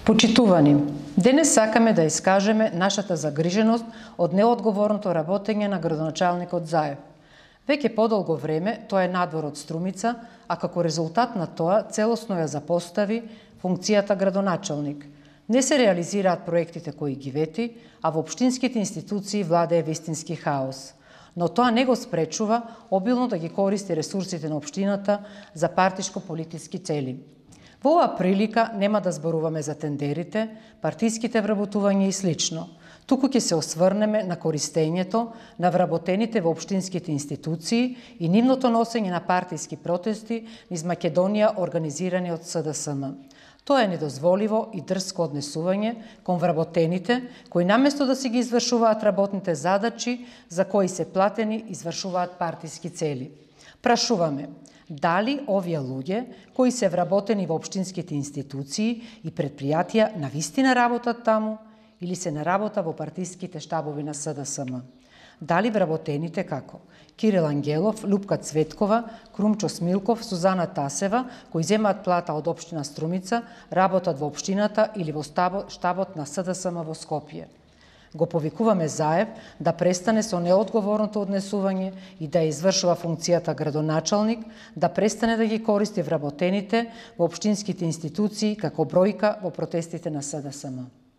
Почитувани, денес сакаме да искажеме нашата загриженост од неодговорното работење на градоначалникот Заев. Веќе подолго време тоа е надвор од Струмица, а како резултат на тоа целосно ја запостави функцијата градоначалник. Не се реализираат проектите кои ги вети, а во општинските институции владее вистински хаос. Но тоа не го спречува обилно да ги користи ресурсите на општината за партишко-политички цели. Во оваа прилика нема да зборуваме за тендерите, партиските вработувања и слично. Туку ќе се осврнеме на користењето на вработените во општинските институции и нивното носење на партиски протести низ Македонија организирани од СДСМ. Тоа е недозволиво и дрско однесување кон вработените, кои наместо да си ги извршуваат работните задачи за кои се платени, извршуваат партиски цели. Прашуваме, дали овие луѓе, кои се вработени во општинските институции и предпријатија, навистина работат таму или се на работа во партиските штабови на СДСМ? Дали вработените како Кирил Ангелов, Лупка Цветкова, Крумчо Смилков, Сузана Тасева, кои земаат плата од општина Струмица, работат во општината или во штабот на СДСМ во Скопје? Го повикуваме Заев да престане со неодговорното однесување и да извршува функцијата градоначалник, да престане да ги користи вработените во општинските институции како бројка во протестите на СДСМ.